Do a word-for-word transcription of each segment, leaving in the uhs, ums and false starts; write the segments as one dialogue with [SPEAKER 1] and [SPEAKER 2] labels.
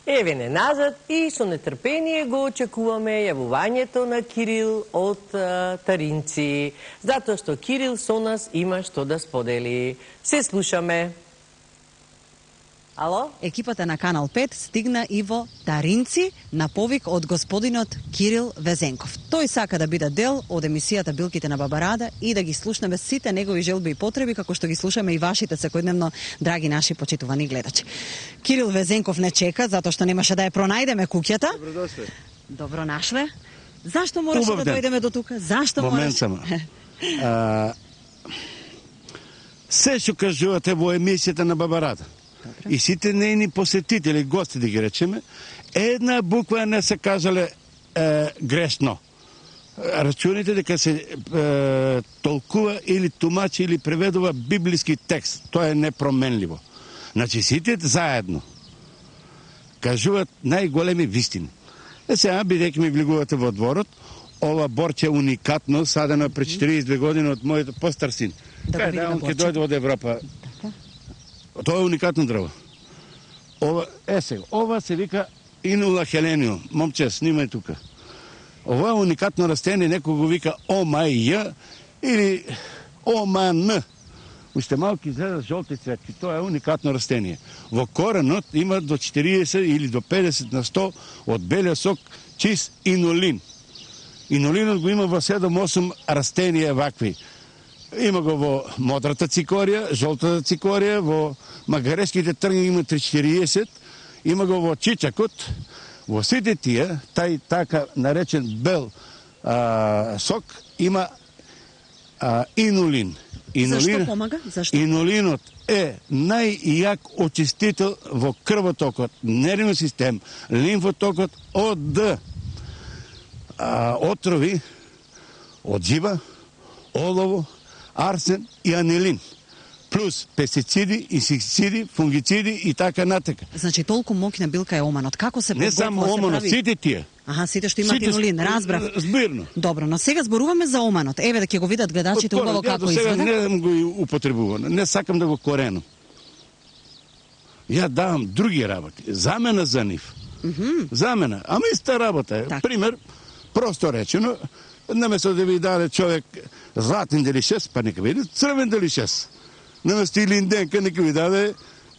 [SPEAKER 1] Еве не назад и со нетрпение го очекуваме јавувањето на Кирил од а, Таринци, затоа што Кирил со нас има што да сподели. Се слушаме. Ало?
[SPEAKER 2] Екипата на Канал пет стигна и во Таринци на повик од господинот Кирил Везенков. Тој сака да биде дел од емисијата Билките на Баба Рада и да ги слушнеме сите негови желби и потреби, како што ги слушаме и вашите секојдневно, драги наши почитувани гледачи. Кирил Везенков не чека, затоа што немаше да ја пронајдеме куќата.
[SPEAKER 3] Добродошле.
[SPEAKER 2] Добро нашле. Зашто мораше да дојдеме до тука? Зашто мораше?
[SPEAKER 3] Момент само. А, се што кажувате во емисијата на Баба Рада. И сите нејни посетители, гости да ги речеме, една буква не се кажале е, грешно. Рачуните дека се е, толкува или тумачи или преведува библиски текст. Тоа е непроменливо. Значи сите заедно кажуваат најголеми вистини. Е сега, бидејќи ми влегувате во дворот, ова борче уникатно, садено пред четириесет две години од мојот постар син.
[SPEAKER 2] Да,
[SPEAKER 3] Кај да, он ќе дојде од Европа. Тоа е уникатно дрво. Ова, е сега, ова се вика Инула хелениум. Момче, снимај тука. Ова е уникатно растение, некој го вика ОМАЙ или ОМАН. Уште малки изгледа жолти цветки. Тоа е уникатно растение. Во коренот има до четириесет или до педесет на сто од белиот сок чист инулин. Инулинот го има во седум-осум растенија вакви. Има го во модрата цикорија, жолтата цикорија, во магарешките трњи има три-четириесет, има го во чичакот, во сите тие, тај така наречен бел а, сок, има а, инулин. Инулин.
[SPEAKER 2] Зашто помага? Зашто?
[SPEAKER 3] Инулинот е најјак очистител во крвотокот, нервен систем, лимфотокот од а, отрови, од жиба, олово, арсен и анилин, плюс пестициди, инсектициди, фунгициди и така натака.
[SPEAKER 2] Значи толку моќна билка е оманот. Како се
[SPEAKER 3] Не само оманот,
[SPEAKER 2] прави...
[SPEAKER 3] сите тие.
[SPEAKER 2] Аха, сите што имат
[SPEAKER 3] Сите...
[SPEAKER 2] инулин, разбрав.
[SPEAKER 3] Збирно.
[SPEAKER 2] Добро, но сега зборуваме за оманот. Еве да ќе го видат гледачите убаво како
[SPEAKER 3] изгледа.
[SPEAKER 2] изгледа.
[SPEAKER 3] Не го употребувам, не сакам да го коренам. Ја давам други работи, замена за нив.
[SPEAKER 2] Mm -hmm.
[SPEAKER 3] Замена, ама иста работа е.
[SPEAKER 2] Так.
[SPEAKER 3] Пример, просто речено, наместо да ви даде човек златен делишес, па нека види црвен делишес. Наместо илинденка, нека ви даде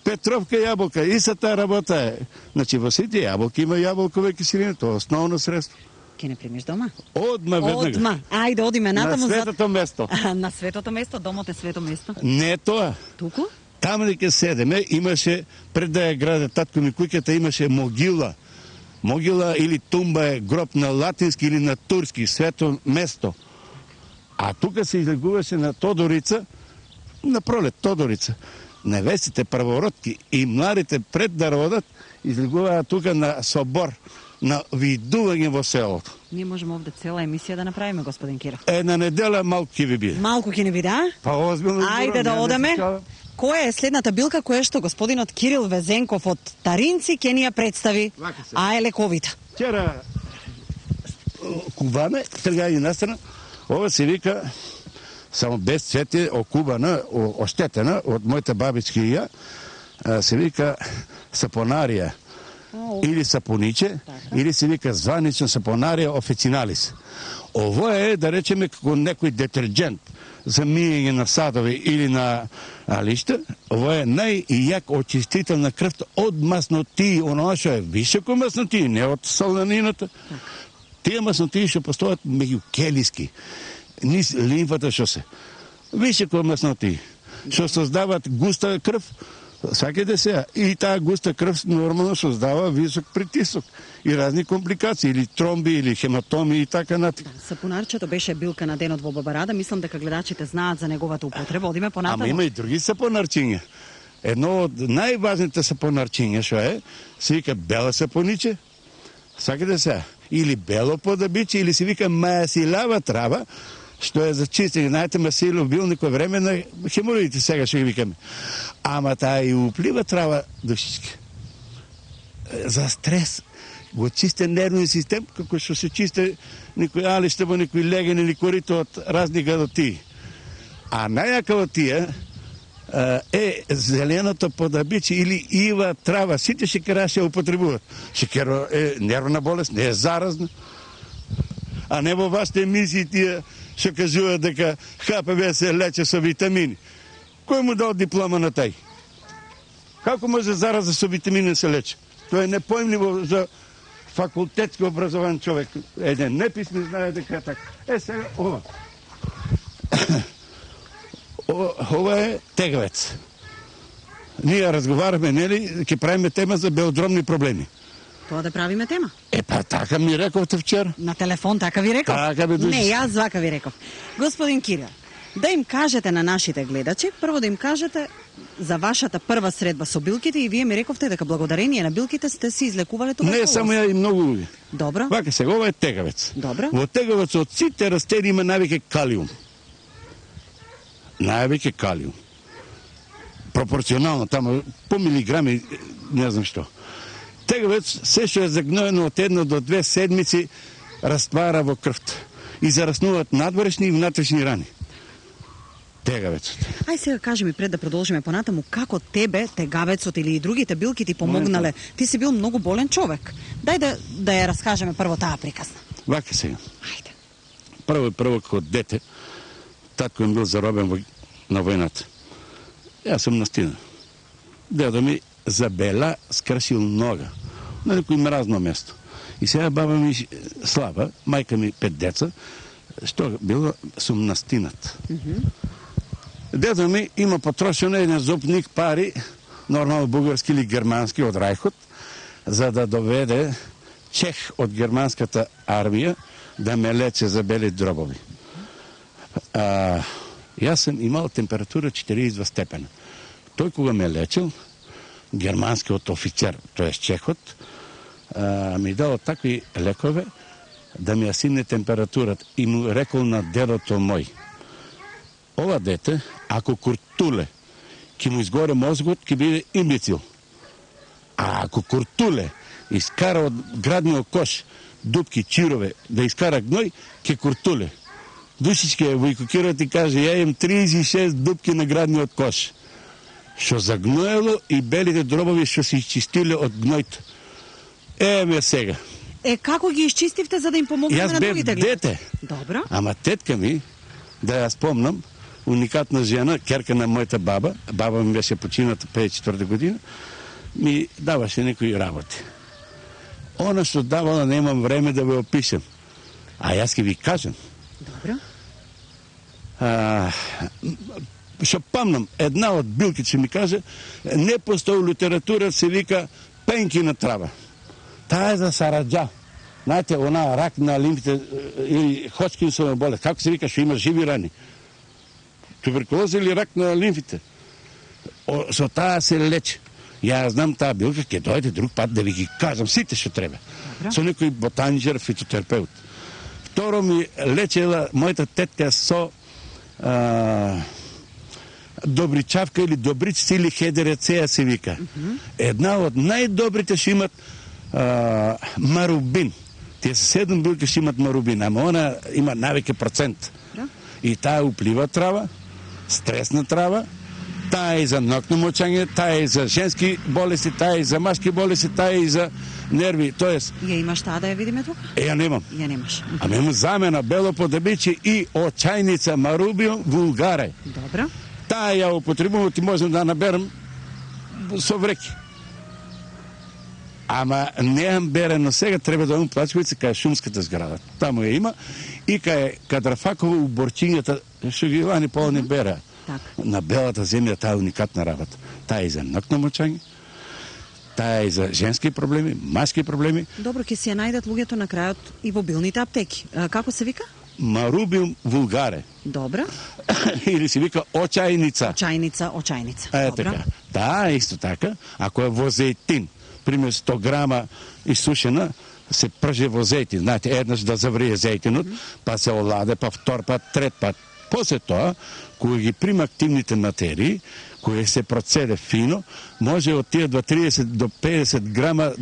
[SPEAKER 3] петровка јаболка. Истата работа е. Значи во сите јаболки има јаболкова киселина, тоа е основно средство.
[SPEAKER 2] Ке не примиш дома?
[SPEAKER 3] Одма веднага.
[SPEAKER 2] Одма. Ајде, одиме натаму.
[SPEAKER 3] На светото место.
[SPEAKER 2] На светото место, домот е свето место.
[SPEAKER 3] Не тоа.
[SPEAKER 2] Туку?
[SPEAKER 3] Таму дека седеме, имаше, пред да ја граде татко ми куќата, имаше могила. Могила или тумба е гроб на латински или на турски, свето место. А тука се излегуваше на Тодорица, на пролет Тодорица. Невестите првородки и младите пред да родат, излегуваат тука на собор, на видување во селото.
[SPEAKER 2] Ние можеме овде цела емисија да направиме, господин Киров.
[SPEAKER 3] Една недела малку ќе ви биде.
[SPEAKER 2] Малку ќе не биде, а?
[SPEAKER 3] Па озбилно.
[SPEAKER 2] Ајде да одеме. Која е следната билка која што господинот Кирил Везенков од Таринци ќе ни ја представи? А е лековита.
[SPEAKER 3] Вчера кубаме, трга и настрана, ова се вика само без цвете, окубана, оштетена од мојата бабичка и ја, се вика сапонарија или сапониче, или се вика званично сапонарија официналис. Ово е, да речеме, како некој детерджент за мијење на садови или на а, лишта. Ово е најјак очистител на крвта од маснотии, оноа што е високо маснотии, не од соленината. Тие маснотии што постојат меѓу келиски, низ лимфата што се. Високо маснотии, што создават густа крв, сакате се, и таа густа крв нормално создава висок притисок и разни компликации, или тромби, или хематоми и така натаму.
[SPEAKER 2] Сапунарчето беше билка на денот во Баба Рада, мислам дека гледачите знаат за неговата употреба. Одиме понатаму.
[SPEAKER 3] Ама има и други сапонарчиња. Едно од најважните сапонарчиња што е, се вика бела сапониче, сакате се, или бело подабиче, или се вика мајасилава трава, што е за чистење. Знаете, масилов бил некој време на хемороидите, сега што ги викаме. Ама таа и уплива трава душички. За стрес. Го чисте нервен систем, како што се чисте некој алиште во некој леген или корито од разни гадотии. А најака од тие, е зеленото подабиче или ива трава, сите шекера се употребуваат. Шекер е нервна болест, не е заразна. А не во вашите емисии тие што кажуваат дека Х П В се лече со витамини. Кој му дал диплома на тај? Како може зараза со витамини да се лече? Тоа е непоимливо за факултетски образован човек. Еден неписмен знае дека е така. Е сега ова. Ова е тегавец. Ние разговараме, нели, ќе правиме тема за белодромни проблеми.
[SPEAKER 2] Тоа да правиме тема?
[SPEAKER 3] Е, па така ми рековте вчера.
[SPEAKER 2] На телефон така ви реков?
[SPEAKER 3] Така би души.
[SPEAKER 2] Не, јас вака ви реков. Господин Кирил, да им кажете на нашите гледачи, прво да им кажете за вашата прва средба со билките и вие ми рековте дека благодарение на билките сте си излекувале тоа.
[SPEAKER 3] Не, само ја и многу луѓе.
[SPEAKER 2] Добро.
[SPEAKER 3] Вака сега, ова е тегавец.
[SPEAKER 2] Добро.
[SPEAKER 3] Во тегавецот сите растени има највеќе калиум. Највеќе калиум. Пропорционално, тамо по милиграми, не знам што. Тегавец, се што е загноено од една до две седмици, раствара во крвта и зараснуваат надворешни и внатрешни рани. Тегавецот.
[SPEAKER 2] Ај сега кажи ми пред да продолжиме понатаму како тебе тегавецот или и другите билки ти помогнале. Ти си бил многу болен човек. Дај да да ја раскажеме прво таа приказна.
[SPEAKER 3] Вака сега.
[SPEAKER 2] Ајде.
[SPEAKER 3] Прво прво како дете, татко ми бил заробен во, на војната. Јас сум настина. Дедо ми забела скршил нога на некој мразно место. И сега баба ми слаба, мајка ми пет деца, што било сум настинат. Mm -hmm. Дедо ми има потрошено еден зопник пари, нормално бугарски или германски од Рајхот, за да доведе чех од германската армија да ме лече за бели дробови. А, јас сум имал температура четириесет и два степена. Тој кога ме лечил, германскиот офицер, тоест чехот, а, ми дал такви лекове да ми ја симне температурата и му рекол на дедото мој: ова дете, ако куртуле, ќе му изгоре мозгот, ќе биде имбецил. А ако куртуле искара од градниот кош дупки, чирове, да искара гној, ќе куртуле. Душичке ја војкокират и каже: ја имам триесет и шест дупки на градниот кош, што загноело и белите дробови што се изчистиле од гнојта. Е, ме сега.
[SPEAKER 2] Е, како ги изчистивте за да им помогнете на другите гледа?
[SPEAKER 3] Јас бев дете.
[SPEAKER 2] Добро.
[SPEAKER 3] Ама тетка ми, да ја спомнам, уникатна жена, керка на мојата баба, баба ми беше почината петдесет и четврта година, ми даваше некои работи. Она што давала немам време да ве опишем. А јас ќе ви кажам.
[SPEAKER 2] Добро.
[SPEAKER 3] А, што памнам, една од билки ќе ми каже, не постои литература, се вика пенкина трава. Таа е за сараджа. Знаете, она рак на лимфите или Ходжкинсова болест, како се вика, што има живи рани? Туберкулоза или рак на лимфите? О, со таа се лечи. Ја знам таа билка, ќе дојде друг пат да ви ги кажам сите што треба. Добро. Со некој ботаничар, фитотерапеут. Второ ми лечела мојата тетка со а, добричавка или добричица или хедерецеја се вика. Mm -hmm. Една од најдобрите што имат а, марубин. Тие се седум билки што имат марубин, ама она има највеќе процент. Yeah. И таа уплива трава, стресна трава, таа е за ноќно мочање, таа е за женски болести, таа е за машки болести, таа е за нерви, тоест...
[SPEAKER 2] Ја имаш таа да ја видиме тука?
[SPEAKER 3] Е, ја немам.
[SPEAKER 2] Ја немаш.
[SPEAKER 3] Ама имам замена бело подебиче и очајница марубиум вулгаре.
[SPEAKER 2] Добро.
[SPEAKER 3] Таа ја употребувам, ти можам да наберам со вреки. Ама неам берено сега, треба да имам плачковица кај шумската зграда. Таму ја има и кај Кадрафаково у Борчињата, што ги вани полни бера.
[SPEAKER 2] Так.
[SPEAKER 3] На белата земја таа е уникатна работа. Таа е за ноќно мочање, таа е за женски проблеми, маски проблеми.
[SPEAKER 2] Добро, ќе си ја најдат луѓето на крајот и во билните аптеки. А, како се вика?
[SPEAKER 3] Марубиум вулгаре.
[SPEAKER 2] Добро.
[SPEAKER 3] Или се вика очајница.
[SPEAKER 2] Очајница, очајница.
[SPEAKER 3] Е,
[SPEAKER 2] Добро.
[SPEAKER 3] така. Да, исто така. Ако е во зејтин, пример сто грама исушена, се прже во зејтин. Знаете, еднаш да заврие зејтинот, mm -hmm. па се оладе, па втор пат, трет пат. После тоа, кога ги прима активните материи, кога се процеде фино, може од тие до триесет до педесет грама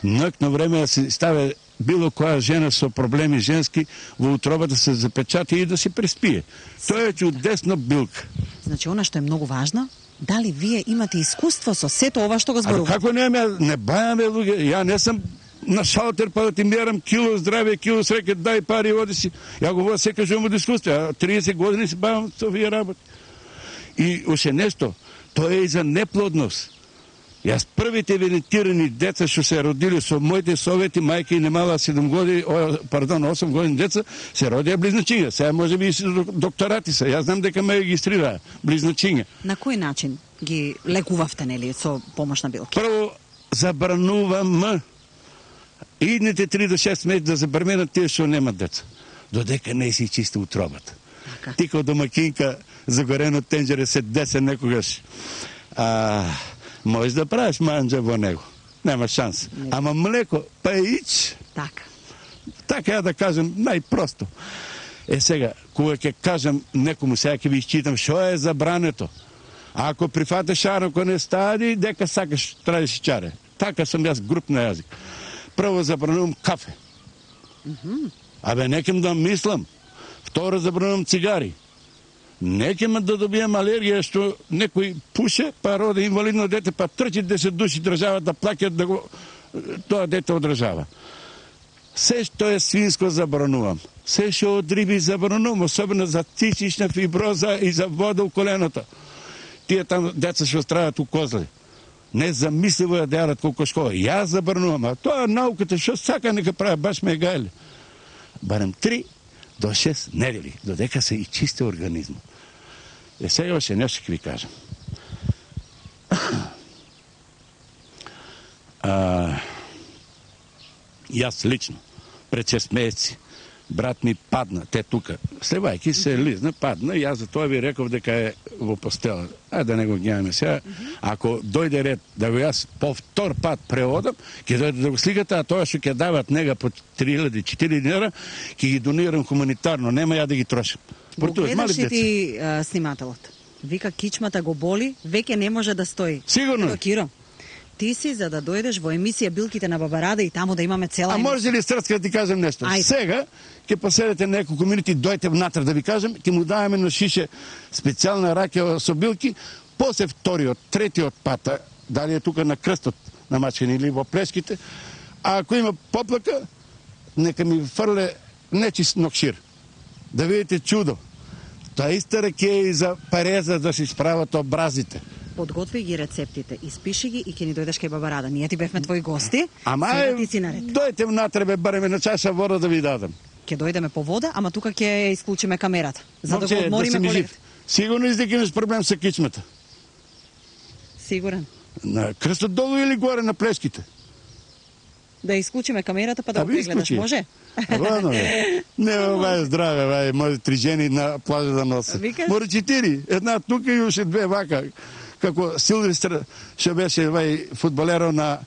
[SPEAKER 3] ноќно време да се ставе било која жена со проблеми женски во утробата се запечати и да се преспие. Тоа е чудесна билка.
[SPEAKER 2] Значи, она што е многу важно, дали вие имате искуство со сето ова што го
[SPEAKER 3] А
[SPEAKER 2] зборувате?
[SPEAKER 3] како не, не бајаме луѓе, ја не сум на шалтер па да ти мерам кило здраве, кило среќа, дај пари, оди си. Ја го водам секој живот од искуство, а триесет години се бавам со овие работи. И уште нешто, тоа е и за неплодност. Јас првите венетирани деца што се родили со моите совети, мајка и немала седум години, о, пардон, осум години деца, се родија близначиња. Сега може би и докторати се. Јас знам дека ме регистрираа близначиња.
[SPEAKER 2] На кој начин ги лекувавте, нели, со помош на билки?
[SPEAKER 3] Прво забранувам идните три до шест месеци да забранат тие што немат деца. Додека не си чисти утробата.
[SPEAKER 2] Така.
[SPEAKER 3] Ти као домакинка загорено тенџере се десе некогаш. А, можеш да правиш манџа во него. Нема шанс.
[SPEAKER 2] Не.
[SPEAKER 3] Ама млеко, па ич.
[SPEAKER 2] Така.
[SPEAKER 3] Така ја да кажем најпросто. Е сега, кога ќе кажам некому, сега ќе ви изчитам што е забрането. А ако прифатеш шаро кој не стади, дека сакаш традиш чаре. Така сум јас груп на јазик. Прво забранувам кафе.
[SPEAKER 2] Mm-hmm.
[SPEAKER 3] Абе, некем да мислам. Второ забранувам цигари. Некем да добијам алергија што некој пуше, па роди инвалидно дете, па трчи десет души држава да плаќат да го тоа дете одржава. Се што е свинско забранувам. Се што од риби забранувам, особено за цистична фиброза и за вода у коленото. Тие там деца што страдат у козли. Незамисливо ја да јадат кокошкова. Јас забранувам, а тоа науката што сака нека прави, баш ме гајле. Барем три до шест недели, додека се и чисти организмот. Е, сега още нешто ќе ви кажам. А, јас лично, пред шест месеци, брат ми падна, те тука, слевајки се лизна, падна, и јас за тоа ви реков дека е во постела. Ајде да не го гневаме сега. Ако дојде ред да го јас по втор пат преодам, ќе дојде да го сликате, а тоа што ќе дават нега по три илјади четири динара, ќе ги донирам хуманитарно, нема ја да ги трошам.
[SPEAKER 2] Го гледаш и ти а, снимателот. Вика, кичмата го боли, веќе не може да стои.
[SPEAKER 3] Сигурно.
[SPEAKER 2] Киро, ти си за да дојдеш во емисија Билките на Бабарада и таму да имаме цела
[SPEAKER 3] А
[SPEAKER 2] емисија.
[SPEAKER 3] може ли срцка да ти кажем нешто?
[SPEAKER 2] Ајде.
[SPEAKER 3] Сега ќе поседете некој комјунити, дојте внатре да ви кажем, ќе му даваме на шише специјална раке со билки, после вториот, третиот пата, дали е тука на крстот на Мачкани или во Плешките, а ако има поплака, нека ми фрле нечист нокшир. Да видите чудо. Тоа иста раке е и за пареза да се исправат образите.
[SPEAKER 2] Подготви ги рецептите, испиши ги и ќе ни дојдеш кај Бабарада. Ние ти бевме твои гости,
[SPEAKER 3] Ама
[SPEAKER 2] сега
[SPEAKER 3] е,
[SPEAKER 2] ти си наред.
[SPEAKER 3] дојте внатре, бе, бареме на чаша вода да ви дадам.
[SPEAKER 2] Ќе дојдеме по вода, ама тука ќе исклучиме камерата, за да
[SPEAKER 3] Момче,
[SPEAKER 2] го одмориме
[SPEAKER 3] си ми
[SPEAKER 2] колегите.
[SPEAKER 3] жив. Сигурно издеки имаш проблем со кичмата.
[SPEAKER 2] Сигурен.
[SPEAKER 3] На крстот долу или горе на Плешките?
[SPEAKER 2] Да исклучиме камерата па да
[SPEAKER 3] А
[SPEAKER 2] го
[SPEAKER 3] ви
[SPEAKER 2] прегледаш,
[SPEAKER 3] исклучи.
[SPEAKER 2] може?
[SPEAKER 3] Ладно, бе. Не, бе, здраве, бе, може три жени на плажа да носат.
[SPEAKER 2] Викаш?
[SPEAKER 3] Може четири. Една тука и уште две вака. Како Силвестр што беше вај фудбалерот на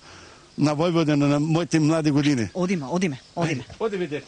[SPEAKER 3] на Војводина на моите млади години.
[SPEAKER 2] Одиме, одиме, одиме.
[SPEAKER 3] Оди, видете.